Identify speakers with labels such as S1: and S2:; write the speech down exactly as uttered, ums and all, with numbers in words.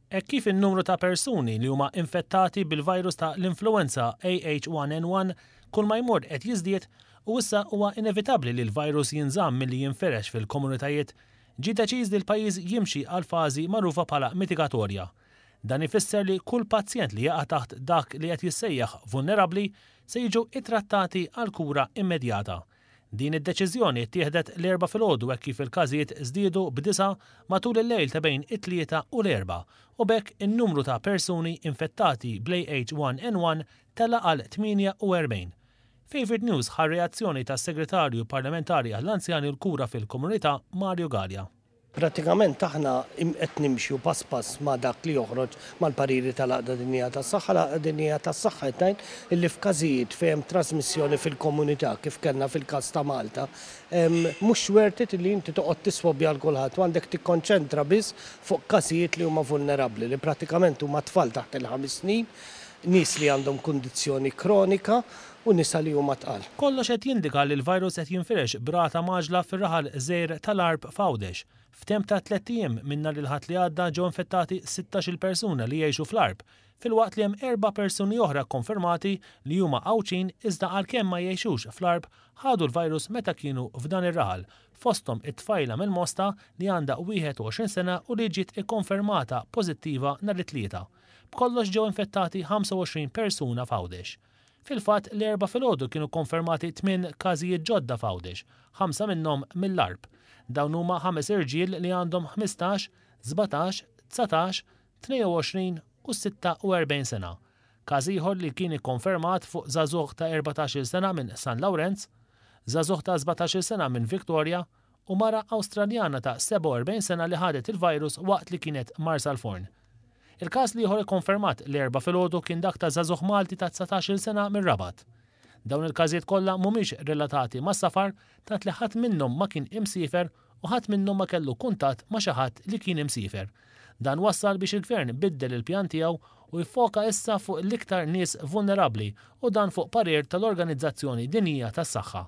S1: Hekk kif in-numru ta' persuni li huma infettati bil-virus ta' l-influenza A H one N one kull ma jmur qed jiżdied u issa huwa inevitabbli li l-virus jinżamm milli jinferex fil-komunitajiet, ġie deċiż li l-pajjiż jimxi għal fażi magħrufa bħala mitigatorja. Dan ifisser li kull pazjent li jaqa' taħt dak li qed jissejjaħ vulnerabbli se jiġu ittrattati għal kura immedjata. Din id-deċiżjoni ttieħdet l-Erbgħa filgħodu hekk kif il-każijiet żdiedu b'disgħa matul il-lejl ta' bejn it-Tlieta u l-Erbgħa u b'hekk in-numru ta' persuni infettati bl-A H one N one tela għal tmienja u erbgħin. Favorite News ħa reazzjoni tas-Segretarju Parlamentari għall-Anzjani u l-Kura fil-Komunità, Mario Galea.
S2: Pratikament aħna qed nimxu pass pass ma' dak li joħroġ mal-pariri tal-Għaqda Dinjija tas-Saħħa. L-Għaqda Dinjija tas-Saħħa qed illi f'każijiet fejn hemm trasmissjoni fil-komunità, kif kellna fil-każ ta' Malta, mhux worth it li inti toqgħod tiswabja għal kulħadd u għandek tikkonċentra biss fuq każijiet li huma vulnerabbli, li pratikament huma tfal taħt il-ħames snin, nies li għandhom kundizzjoni kronika u nisa li huma tqal.
S1: Kollox qed jindika li l-virus qed jinfirex b'rata mgħaġġla fir-raħal żgħir tal-Għarb f'Għawdex. F'temp ta' tlett ijiem minn nhar il-Ħadd li għadda ġew infettati sittax-il persuna li jgħixu fl-Għarb, filwaqt li hemm erba' persuni oħra konfermati li huma Għawdxin iżda għalkemm ma jgħixux fl-Għarb ħadu l-virus meta kienu f'dan ir-raħal, fosthom it-tfajla mill-Mosta li għandha wieħed u għoxrin sena u li ġiet ikkonfermata pożittiva nhar it-Tlieta. B'kollox ġew infettati ħamsa u għoxrin persuna f'Għawdex. Fil-fatt, l-Erbgħa filgħodu kienu konfermati tmien każijiet ġodda f'Għawdex, ħamsa minnhom mill-Għarb. Dawn huma ħames irġiel li għandhom ħmistax, sbatax, dsatax, tnejn u għoxrin u sitta u erbgħin sena. Każ ieħor li kien ikkonfermat fuq żagħżugħ ta' erbatax-il sena minn San Lawrenz, żagħżugħ ta' sbatax-il sena minn Victoria u mara Awstraljana ta' sebgħa u erbgħin sena li ħadet il-virus waqt li kienet Marsalforn. Il-każ l-ieħor ikkonfermat l-Erbgħa filgħodu kien dak ta' żagħżugħ Malti ta' dsatax-il sena mir-Rabat. Dawn il-każijiet kollha mhumiex relatati ma' safar, tant li ħadd minnhom ma kien imsiefer u ħadd minnhom ma kellu kuntatt ma' xi ħadd li kien imsiefer. Dan wassal biex il-gvern biddel il-pjan tiegħu u jfoka issa fuq l-iktar nies vulnerabbli, u dan fuq parir tal-Organizzazzjoni Dinjija tas-Saħħa.